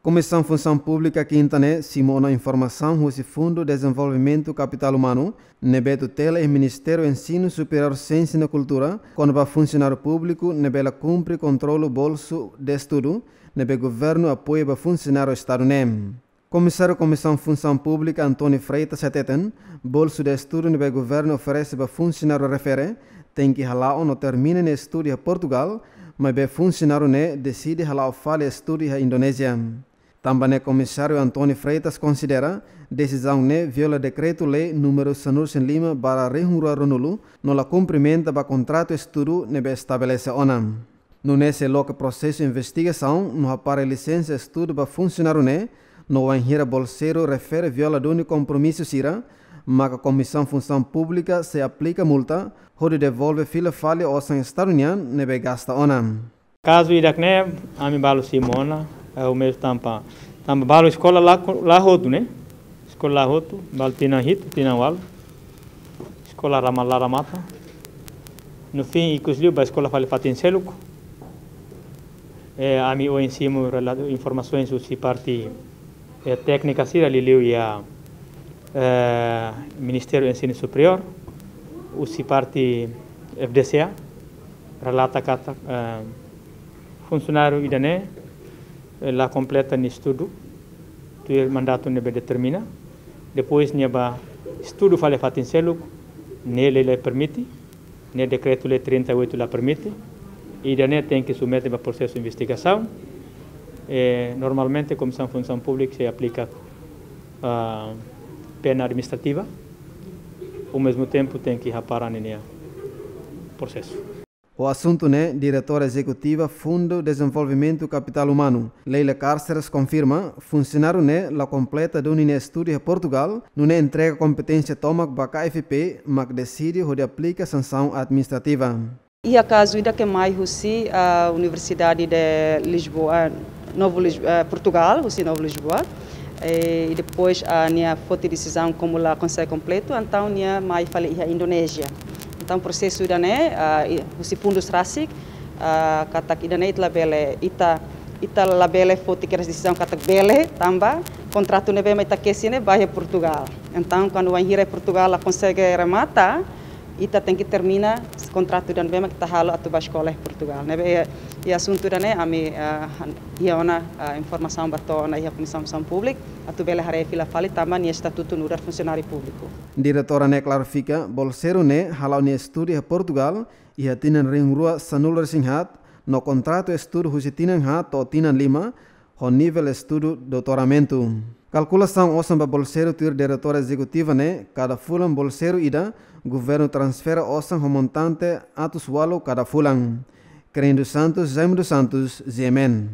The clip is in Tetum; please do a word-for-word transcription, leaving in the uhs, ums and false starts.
Komisaun Funsaun Públika kinta ne'e simu ona informasaun husi Fundu Dezenvolvimentu Kapitál Umanu ne'ebé tutela iha Ministériu Ensinu Superiór, Siénsia no Kultura, kona-ba funsionáriu públiku ne'ebé la kumpre kontrolu bolsu de estudu ne'ebé governu apoia ba funsionáriu Estadu ne'e. Komisáriu Komisaun Funsaun Públika António Freitas hateten, bolsu de estudu ne'ebé governu oferese ba funsionáriu refere tenke hala'o no termina nia estudu iha Portugal, maibé funsionáriu ne'e deside hala'o fali estudu iha Indonézia. Tanba ne'e, Komisáriu António Freitas konsidera desizaun ne'e viola dekretu-lei númeru sanulu-resin-lima barra rihun rua ruanulu no la kumprimenta ba kontratu estudu ne'ebé estabelese ona. Nune'e sei loke prosesu investigasaun no hapara lisensa estudu ba funsionáriu ne'e, no wainhira bolseiru refere viola duni kompromisu sira, maka Komisaun Funsaun Públika sei aplika multa, hodi devolve fila fali osan Estadu nian ne'ebé gasta ona. Kazu ida-ne'e, ami balu simu ona, eh, o mesmo tanba, tanba balu eskola la, la hotu, ne'e? Eskola la hotu, balu tinan hitu, tinan ualu. Eskola rama-, la remata. No fim, ikus liu ba eskola fali fatin seluk. Eh, ami ohin simu rela-, informasaun husi parte, eh, téknika sira liuliu iha, eh, Ministériu Ensinu Superiór, husi parte F D C A, relata katak, eh, funsionáriu ida-ne'e, eh, la kompleta nia estudu tuir mandatu ne'ebé determina. Depois nia bá estudu fali fatin seluk, ne'e lei la permite, ne'e dekretu-lei trinta e oito la permite. Ida-ne'e tenke submete ba prosesu investigasaun. Eh, normalmente, Komisaun Funsaun Públika sei aplika, ah, pena administrativa. Ao mesmo tempo, tenke hapara ninia prosesu. Ho asuntu ne'e, Diretora Ezekutiva Fundu Dezenvolvimentu Kapitál Umanu, Leila Cárceres, konfirma funsionáriu ne'e la kompleta duni nia estudu iha Portugal, nune'e entrega kompeténsia tomak ba K F P, mak deside hodi aplika sansaun administrativa. Iha kazu ida ke mai husi, ah, Universidade de Lisboa, Novo Lis-, eh, Portugal, husi Novo Lisboa. Eh, e depois, ah, nia foti desizaun komu la konsege kompletu, entaun nia mai fali iha Indonézia. Entaun prosesu ida-ne'e, ah, i-, husi fundus rasik, ah, katak ida-ne'e ita labele, ita, ita labele foti kedas desizaun katak bele, tanba kontratu ne'ebé mak ita kesi ne'e ba iha Portugal. Entaun, kuandu wainhira Portugal la konsege remata, ita tenke termina kontratu ida-ne'ebé mak ita halo atu bá eskola iha Portugal. Ne'ebé iha, iha asuntu ida-ne'e ami, ah, han-, iha ona, ah, informasaun ba to'o ona iha Komisaun Funsaun Públika, atu bele haree fila fali tanba nia estatutu nu'udar funsionáriu públiku. Diretora ne'e klarifika, bolseiru ne'e hala'o nia estudu iha Portugal iha tinan rihun rua sanulu-resin-haat, no kontratu estudu husi tinan haat to'o tinan lima, ho nivel estudu doutoramentu. Kalkulasaun osan ba bolseiru tuir Diretora Ezekutiva ne'e, kada fulan bolseiru ida, governu transfere osan ho montante atus ualu kada fulan. Keren dos Santos, Jaime dos Santos, G M N.